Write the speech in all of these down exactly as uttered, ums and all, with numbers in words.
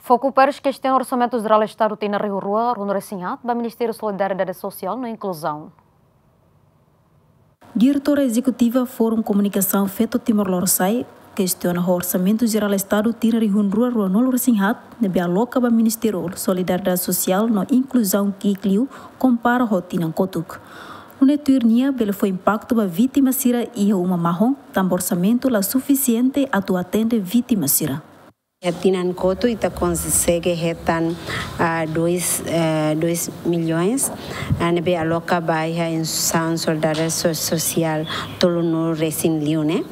Foku Pers kestiona Orsamentu Jerál Estadu tinan rihun rua ruanulu-resin-haat ba Ministériu Solidariedade Sosiál no Inkluzaun. Diretora Ezekutiva Forum Komunikasaun Feto Timor Lorosa'e kestiona ho Orsamentu Jerál Estadu tinan rihun rua ruanulu-resin-haat ne'ebé aloka ba Ministériu Solidariedade Sosiál no Inkluzaun ki'ik liu kompara ho tinan kotuk. Nune'e tuir nia bele fó impaktu ba vítima sira iha uma mahon, tanba orsamentu la sufisiente atu atende vítima sira. Iha tinan kotuk ita konsege hetan, ah, dois, eh, dois milhões, ah, ne'ebé aloka ba iha instituisaun solidariedade so-, sosiál tolunulu-resin liu ne'e.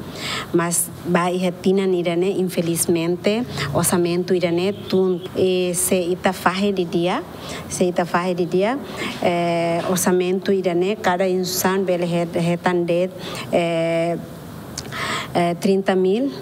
Mas ba iha tinan ida-ne'e, infelizmente, orsamentu ida-ne'e tun, eh, se ita fahe didi'ak, se ita fahe didi'ak, eh, orsamentu ida-ne'e, kada instituisaun bele het-, hetan de'it, eh, eh, trinta mil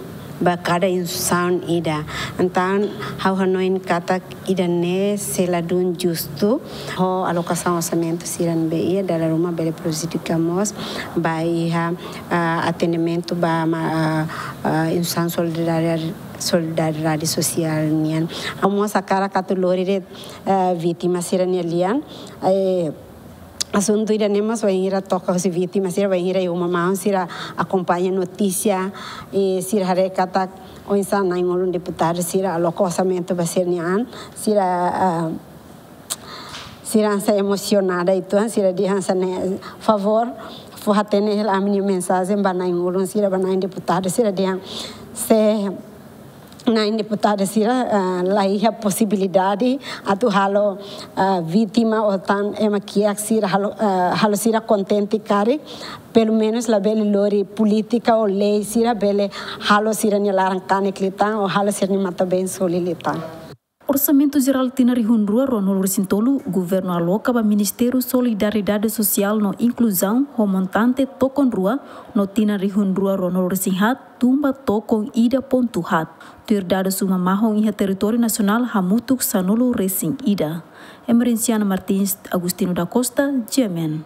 ba kada instituisaun ida. Entaun, ha'u hanoin katak ida-ne'e sei ladún justu, ho alokasaun orsamentu sira ne'ebé iha, dala ruma bele prejudika mós ba iha, ah, atendimentu ba ma-, ah, ah, instituisaun solidariedade, solidariedade sosiál nian. Ha'u mós hakarak atu lori de'it, eh, vítima sira-nia lian, eh, asuntu ida-ne'e mós bainhira toka husi vítima sira, bainhira iha uma mahon sira akompaña notísia, i sira haree katak oinsá na'in-ulun deputadu sira aloka orsamentu ba sira-nia an, sira, ah, sira hanesan emosionada uitoan, sira dehan hanesan ne'e, favór, fó hatene hela ami-nia mensajen ba na'in-ulun sira, ba na'in deputadu sira dehan se na'in deputadu sira, ah, la iha posibilidade atu halo, ah, vítima ou tan ema kiak sira halo, ah, halo sira kontente karik, pelumenus labele lori polítika ou lei sira bele halo sira-nia laran kanek liután ou halo sira-nia matan-been suli liután. Orsamentu Jerál tinan rihun rua ruanulu-resin-tolu, Governu aloka ba Ministériu Solidariedade Sosiál no Inkluzaun ho montante tokon rua, no tinan rihun rua ruanulu-resin-haat, tun ba tokon ida pontu haat. Tuir dadus uma mahon iha territóriu nasionál hamutuk sanulu-resin-ida. Emerenciana Martins, Agostinho da Costa, G M N.